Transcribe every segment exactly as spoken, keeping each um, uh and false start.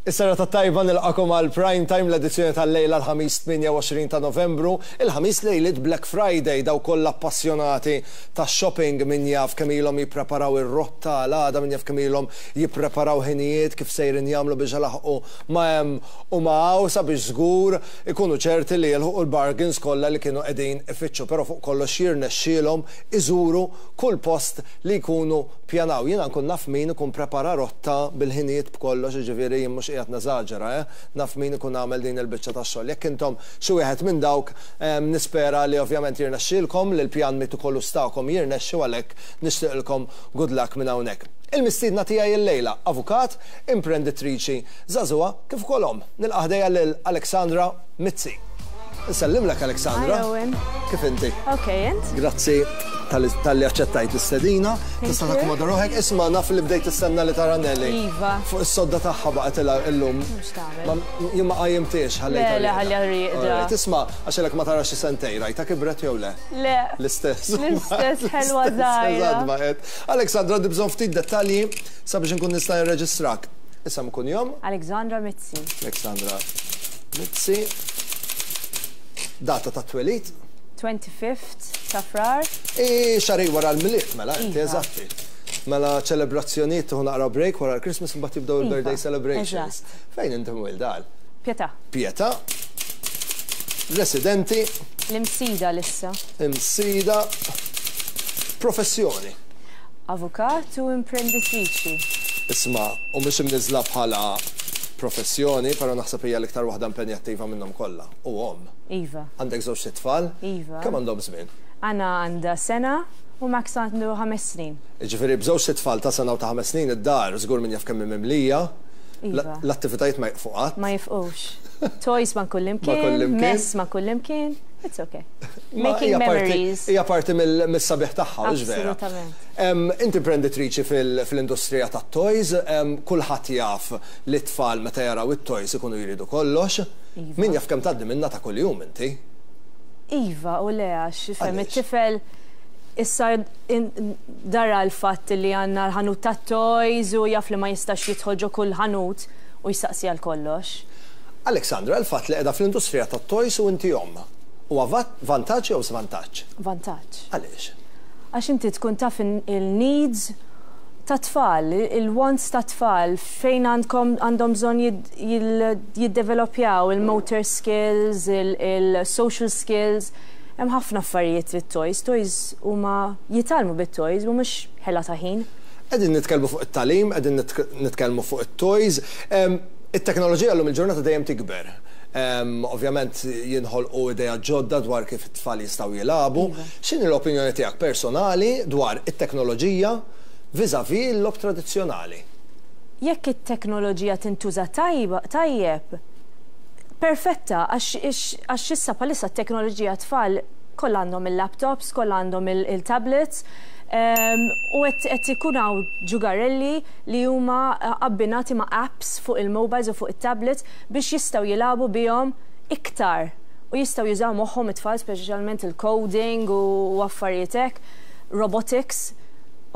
Is-serata tajba, nilqagħkom għal Prime Time, l-edizzjoni tal-lejla l-Ħamis tmienja u għoxrin ta' Novembru, il-Ħamis lejlit Black Friday. Dawk kollha appassjonati ta' shopping, min jaf kemm ilhom jippreparaw ir-rotta għal għada, min jaf kemm ilhom jippreparaw ħinijiet kif sejrin jagħmlu biex ilaħqu ma' hemm u ma' hawn sabiex żgur ikunu ċerti li jilħqu l-bargains kollha li kienu qegħdin ifittxu, però fuq kollox jirnexxielhom iżuru kull post li jkunu pjanaw. Jiena nkun naf min ikun prepara rotta bil-ħinijiet b'kollox, jiġifieri jien mhux qiegħed neżaġera, eh? Naf min ikun għamel din il-biċċa tax-xogħol. Jekk intom xi wieħed minn dawk, em, nispera li ovvjament jirnexxielkom li l-pjan metikolus tagħkom jirnexxi, għalhekk nixtieqilkom good luck minn hawnhekk. Il-mistiedna tiegħi illejla, avukat, imprenditriċi żagħżugħa kif ukoll omm. Nilqa' ħdejja lil Alexandra Mizzi. Nsellimlek, Alexandra. Hi, Owen. Kif inti? Ok, int? Grazzi talli aċċettajt l-istedina. Tista' you. takkomoda ruħek. Isma', naf li bdejt tistenna li tara Nelly. Iva. Fuq is-sodda tagħha baqgħet illum. Mhux tagħmel. Ma jien ma qajjimtiex, ħallejtha Le, le, rieqda. ħalliha rieqda. Alright, isma', għax ilek ma tarax xi sentejn, rajta kibret jew le? Le. L-istess. L-istess, ħelwa żgħira. Eżatt, baqgħet. Alexandra, għandi bżonn ftit dettalji sabiex nkun nista' nirreġistrak. Isem, kunjom? Alexandra Mizzi. Alexandra Mizzi. Data ta' twelid? twenty-fifth ta' Frar. I xahar wara l-Milied, mela, inti Iva. eżatti. Mela ċelebrazzjonijiet, tieħu naqra break wara l-Christmas, mbagħad jibdew il-birthday Iva, celebrations. Eżatt. Fejn inti mwielda? Pietà. Pietà. Residenti? L-Imsida issa. Imsida. Professjoni? Avukat u imprenditriċi. Isma', u mhux imniżla bħala professjoni, però naħseb hija l-iktar waħda impenjattiva minnhom kollha. U omm. Iva. Għandek żewġ tfal? Iva. Kemm għandhom żmien? Anna għandha sena u Max għandu ħames snin. Ġifieri b'żewġ tfal ta' sena u ta' ħames snin id-dar żgur min jaf kemm mimlija. Iva. L-attivitajiet ma jieqfu qatt. Ma jieqfux. Toys ma' kullimkien, kullimkien. Mess ma' kullimkien. It's okay. Ma Making hija parti- memories. Hija parti mill- mis-sabiħ tagħha, hux vera? Assolutament. Em, Inti imprenditriċi fil- fil-industrija tat-toys, em, kulħadd jaf li t-tfal meta jaraw it-toys ikunu jridu kollox. Iva. Min jaf kemm tgħaddi minna ta' kuljum inti? Iva, u le, għax ifhem Għaliex? it-tifel issa in- dara l-fatt li għandna l-ħanut ta' toys u jaf li ma jistax jidħol ġo kull ħanut u jistaqsi għal kollox. Alexandra, il-fatt li qiegħda fl-industrija tat-toys u inti omm. Huwa vat- vantaġġ jew żvantaġġ? Vantaġġ. Għaliex? Għax inti tkun taf in- il-needs ta' tfal, il-wants ta' tfal, fejn għandkom għandhom bżonn jid- jil- jiddevelopjaw il-motor skills, il-social skills. Hemm ħafna affarijiet bit-toys. Toys huma jitgħallmu bit-toys u mhux ħela ta' ħin. Qegħdin nitkellmu fuq it-tagħlim, qegħdin nitk- nitkellmu fuq it-toys. Em, It-teknoloġija llum il-ġurnata dejjem tikber. Em, Ovvjament jinħolqu idea ġodda dwar kif it-tfal jistgħu jilagħbu. X'inhi l-opinjoni tiegħek personali dwar it-teknoloġija vis-à-vis l-logħob tradizzjonali? Jekk it-teknoloġija tintuża tajba tajjeb, perfetta, għax għax issa bħalissa t-teknoloġija tfal kollha għandhom il-laptops, kollha għandhom il-tablets, em, u qed ikun hawn ġugarelli li huma abbinati ma' apps fuq il-mobiles u fuq it-tablets biex jistgħu jilagħbu bihom iktar u jistgħu jużaw moħħhom it-tfal, speċjalment il-coding u affarijiet hekk, robotics.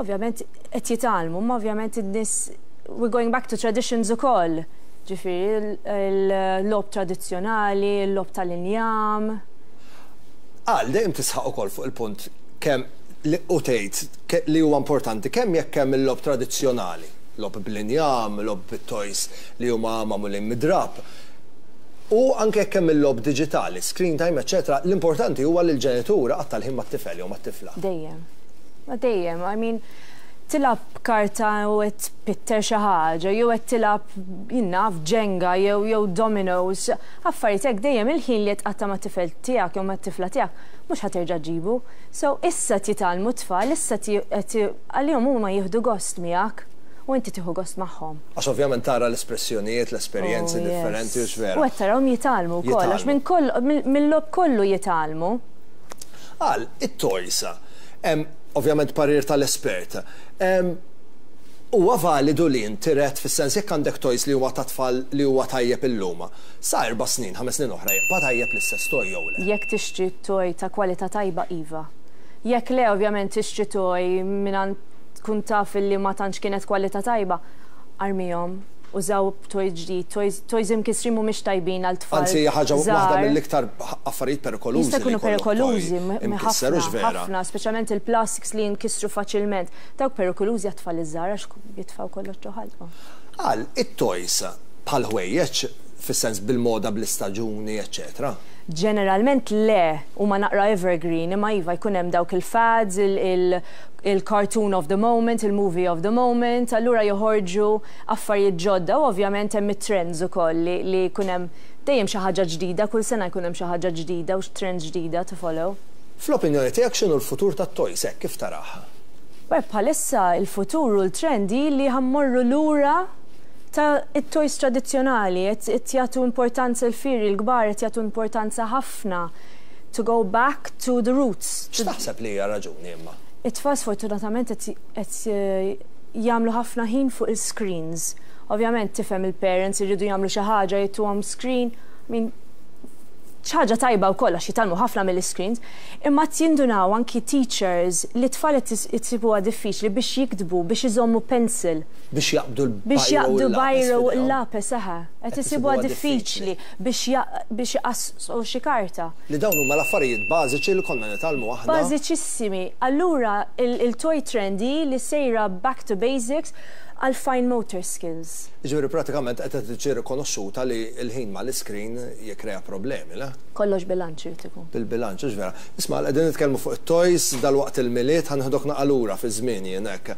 Ovvjament qed jitgħallmu, ma ovvjament in-nies, we're going back to traditions ukoll. Ġifieri il-logħob tradizzjonali, il-logħob tal-injam. Għal dejjem tisħaq ukoll fuq il-punt kemm li u tgħid li huwa importanti kemm jekk hemm il-logħob tradizzjonali, logħob bl-injam, logħob bit-toys li huma magħmulin mid-drapp. U anke jekk hemm il-logħob diġitali, screen time, eċetera, l-importanti huwa li l-ġenitur iqatta' l-ħin mat-tifel jew mat-tifla. Dejjem. Ma dejjem, I mean, tilgħab karta u qed tpitter xi ħaġa, jew qed tilgħab, jien naf, Jenga jew jew dominoes, affarijiet hekk, dejjem il-ħin li tqatta' mat-tifel tiegħek jew mat-tifla tiegħek mhux ħa terġa' ġġibu. So issa jitgħallmu tfal, issa għalihom huma jieħdu gost miegħek u inti tieħu gost magħhom. Għax ovvjament tara l-espressjonijiet, l-esperjenzi Oh, differenti, u vera. U qed tarawhom jitgħallmu wkoll, għax minn koll mill-logħob kollu jitgħallmu. Għal, it-toys, ovvjament parir tal-espert. Huwa validu li intiret fis-sens jekk għandek toys li huwa ta' tfal li huwa tajjeb illum, sa erba' snin, ħames snin oħra jibqa' tajjeb l-istess toy jew le? Jekk tixtri toy ta' kwalità tajba, iva. Jekk le, ovvjament tixtri toy minn tkun taf li ma tantx kienet kwalità tajba, armihom u Użaw toys ġdid, toys, toys imkisrin mhumiex tajbin għal tfal. Anzi, hija ħaġa waħda mill-iktar affarijiet perikolużi. Jista' jkunu perikolużi, ħafna, ħafna, speċjalment il-plastics li jinkisru faċilment. Dawk perikolużi għat-tfal iż-żgħar għax jitfgħu kollox ġo ħalqhom. Għal, it-toys bħal ħwejjeġ, fis-sens bil-moda, bl-istaġuni, eccetera. Ġeneralment le, huma naqra evergreen, imma iva, jkun hemm dawk il-fads, il-cartoon of the moment, il-movie of the moment, allura joħorġu affarijiet ġodda u ovvjament hemm it-trends ukoll li, li jkun hemm dejjem xi ħaġa ġdida, kull sena jkun hemm xi ħaġa ġdida u trends ġdida to follow. Fl-opinjoni tiegħek, x'inhu l-futur tat-toys hekk kif taraha? Beh, bħalissa il-futur u l-trendi li ħa mmorru lura ta' it-toys tradizzjonali, qed jagħtu importanza l-fieri l-kbar, qed jagħtu importanza ħafna to go back to the roots. X'taħseb li hija raġuni imma? It-tfal sfortunatament qed jagħmlu ħafna ħin fuq il-screens. Ovvjament tifhem, il-parents irridu jagħmlu xi ħaġa, jtuhom screen. I mean, ħaġa tajba wkoll għax jitgħallmu ħafna mill-screens, imma jindunaw anki teachers li tfal isibuha diffiċli biex jiktbu, biex iżommu pencil. Biex jaqbdu l Biex jaqbdu biro, l-lapis, eħe. Qed isibuha diffiċli biex jqassu xi karta. Li dawn huma l-affarijiet bażiċi li konna nitgħallmu aħna. Bażiċissimi. Allura il-toy trendy li sejra back to basics għal fine motor skills. Ġifieri pratikament qed tiġi rikonoxxuta li l-ħin mal-screen jikkrea problemi, le? Kollox bilanċ irid ikun. Bil-bilanċ, vera. Isma', qegħdin nitkellmu fuq it-toys, dal-waqt il-Milied, ħa neħdok naqra lura fi żmien jien hekk.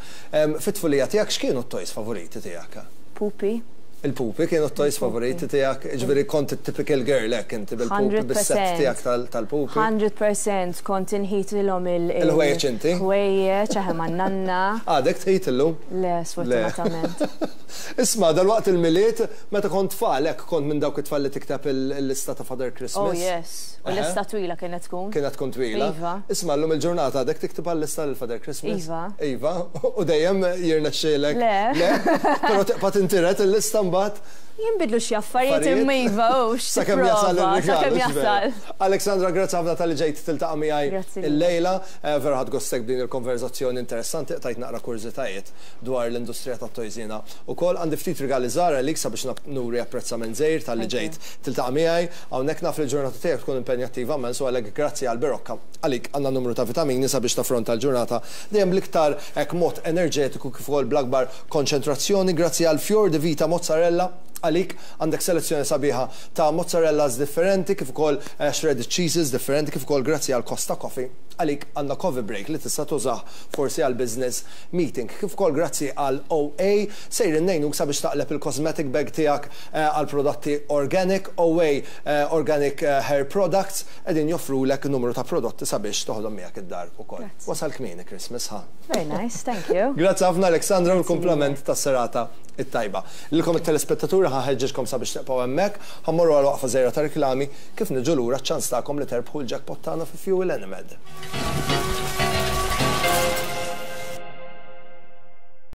Fit-tfulija tiegħek, x'kienu t-toys favoriti tiegħek? Pupi. Il-pupi kienu t-toys favoriti tiegħek, ġifieri kont typical girl hekk inti bil-pupi, bis-set tiegħek tal-pupi. mija fil-mija kont inħitilhom il- Il-ħwejjeġ inti? Ħwejjeġ, eħe, man-nanna. Għadek tħit illum? Le, sfortunatament. Isma', dal-waqt il-Milied, meta kont tfal, hekk kont minn dawk it-tfal li tikteb il-lista ta' Father Christmas? Oh yes, u lista twila kienet tkun. Kienet tkun twila. Iva. Isma', llum il-ġurnata għadek tikteb għal-lista l-Father Christmas? Iva. Iva, u dejjem jirnexxielek? Le. Le? Però tibqa' tintiret il-lista mbagħad. Jinbidlu xi affarijiet, imma iva, u Sakemm jasal il-rigal. Sakemm jasal. Alexandra, grazzi ħafna talli ġejt tiltaqa' miegħi Grazzi il-lejla. Eh, vera ħadt gost b'din il-konverzazzjoni interessanti, tajt naqra kurżitajiet dwar l-industrija tat-toys jiena. Ukoll għandi ftit rigali żgħar għalik sabiex nuri apprezzament żgħir talli ġejt tiltaqa' miegħi. Hawnhekk naf li l-ġurnata tiegħek tkun impenjattiva immens u għalhekk grazzi għal Berocca għalik għandna numru ta' vitamini sabiex taffronta l-ġurnata dejjem bl-iktar hekk mod enerġetiku kif ukoll bl-akbar konċentrazzjoni. Grazzi għal Fior di Vita Mozzarella għalik għandek selezzjoni sabiħa ta' mozzarellas differenti kif ukoll eh, shredded cheeses differenti, kif ukoll grazzi għal Costa Coffee għalik għandna coffee break li tista' tużah forsi għal business meeting. Kif ukoll grazzi għal O A sejrin ngħinuk sabiex taqleb il-cosmetic bag tiegħek eh, għal prodotti organic. O A eh, Organic Hair Products qegħdin joffrulek numru ta' prodotti sabiex toħodhom miegħek id-dar ukoll. Wasal kmieni Christmas, ha. Very nice, thank you. Grazzi ħafna, Alexandra, u l-kumplament tas-serata it-tajba. Lilkom it-telespettaturi ħa nħeġġiġkom sabiex tibqgħu hemmhekk, ħa mmorru għal waqfa żgħira ta' reklami, kif niġu lura ċans tagħkom li terbħu l-jackpot tagħna fi Fuel Enemed.